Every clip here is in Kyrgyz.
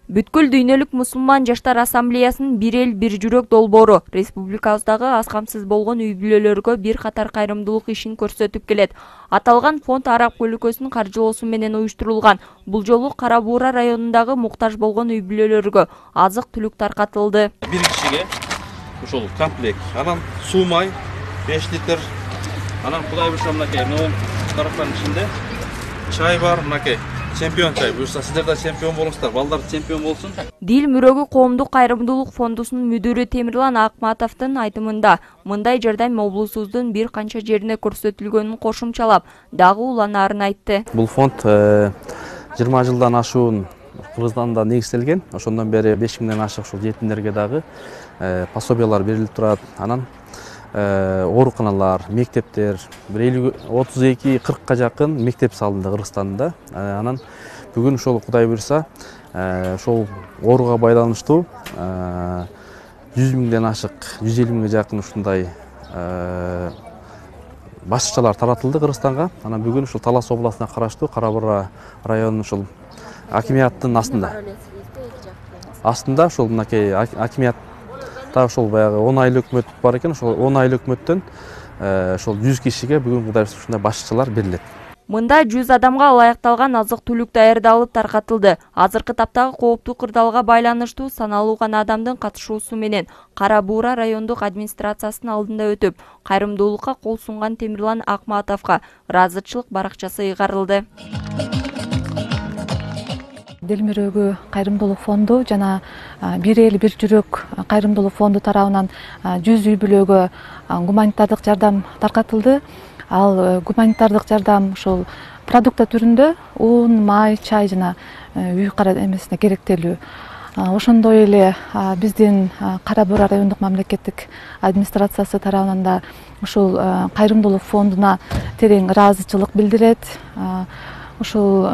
Бүткүл дүйнөлүк мусулман жаштар ассамблеясынын бир эл бир жүрөк долбоору республикабыздагы аз камсыз болгон үй бүлөлөргө бир катар кайрымдуулук ишин көрсөтүп келет. Аталган фонд Арак өлкөсүнүн каржылоосу менен уюштурулган. Бул жолу Кара Буура районундагы муктаж болгон үй бүлөлөргө азык-түлүк таркатылды. Бир кишиге ушул комплект, анан суу май 5 литр, анан Кудай буйруса мынакей тараптын ичинде чай бар, мынакей чемпион чай. Буюрса сиздер да чемпион болуңуздар, балдар чемпион болсун. Дил мөрөгү коомдук кайрымдуулук фондусунун мүдүрү Темирлан Акматовдун айтымында мындай жардам облусубуздун бир канча жерине көрсөтүлгөнүн кошумчалап, дагы уланаарын айтты. Бул фонд 20 жылдан ашуун Кыргызстанда негизделген. Ошондон бери 5000ден ашык ушул жетимдерге дагы пособиялар берилип турат. Анан ооруканалар, мектептер 32-40ка жакын мектеп салынды Кыргызстанда. Анан бүгүн ошол Кудай буйруса ошол ооруга байланыштуу 100 миңден ашык, 150 миңге жакын ушундай башчылар таратылды Кыргызстанга. Анан бүгүн ушул Талас областына караштуу Кара Буура районунун ушул акимияттын астында ушул мынакей акимият ошол баягы 10 айлык өкмөт бар экен. Ошол 10 айлык өкмөттөн ошол 100 кишиге бүгүн Кудай буйруса ушундай башчылар берилет. Мында 100 адамга ылайыкталган азык-түлүк даярдалып таркатылды. Азыркы таптагы кооптуу кырдаалга байланыштуу саналуу гана адамдын катышуусу менен Кара Буура райондук администрациясынын алдында өтүп, кайрымдуулукка кол сунган Темирлан Акматовго ыраазычылык баракчасы ыйгарылды. Дил мөрөгү кайрымдуулук фонду жана бир эл бир жүрөк кайрымдуулук фонду тарабынан 100 үй бүлөгө гуманитардык жардам таркатылды. Ал гуманитардык жардам ушул продукта түрүндө ун, май, чай жана үй эмесине керектелүү. Ошондой эле биздин Кара Буура райондук мамлекеттик администрациясы тарабынан да ушул кайрымдуулук фондуна терең ыраазычылык билдирет. Ушул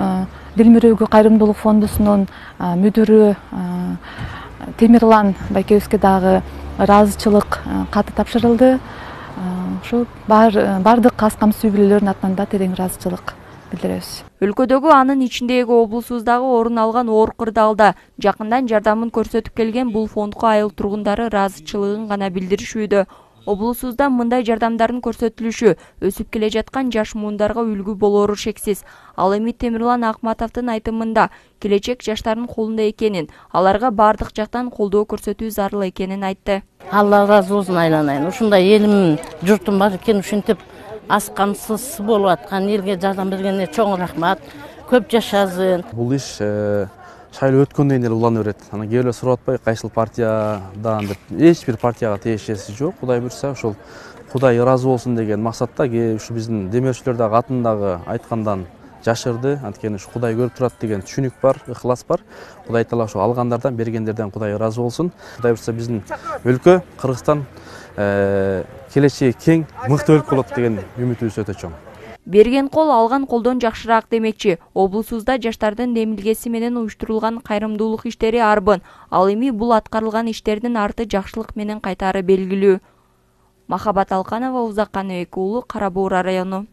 Дил мөрөгү кайрымдуулук фондусунун мүдүрү Темирлан байкебизге дагы ыраазычылык каты тапшырылды. Ушул бардык аз камсыз үй бүлөлөрдүн атынан да терең ыраазычылык билдиребиз. Өлкөдөгү анын ичиндеги облусубуздагы орун алган оор кырдаалда жакындан жардамын көрсөтүп келген бул фондко айыл тургундары ыраазычылыгын гана билдиришүүдө. Облусубузда мындай жардамдардын көрсөтүлүшү өсүп келе жаткан жаш муундарга үлгү болору шексиз. Ал эми Темирлан Акматовдун айтымында келечек жаштардын колунда экенин, аларга бардык жактан колдоо көрсөтүү зарыл экенин айтты. Алла ыраазы болсун айланайын. Ушундай элим, журтум бар экен, ушинтип аз камсыз болуп аткан элге жардам бергенине чоң рахмат. Көп жашасын. Бул иш шайлоо өткөндөн кийин эле улана берет. Анан кээ эле сурап атпайбы кайсыл партиядан деп. Эч бир партияга тиешеси жок. Кудай буйруса ошол Кудай ыраазы болсун деген максатта ушу биздин демөөрчүлөр дагы атындагы айткандан жашырды. Анткени ушу Кудай көрүп турат деген түшүнүк бар, ыхлас бар. Кудай таала ошо алгандардан, бергендерден Кудай ыраазы болсун. Кудай буйруса биздин өлкө Кыргызстан келечеги кең, мыкты өлкө болот деген үмүтүбүз өтө чоң. Берген кол алган колдон жакшыраак демекчи. Облусубузда жаштардын демилгеси менен уюштурулган кайрымдуулук иштери арбын. Ал эми бул аткарылган иштердин арты жакшылык менен кайтаары белгилүү. Махабат Алканова, Узак Каныбек уулу, Кара Буура району.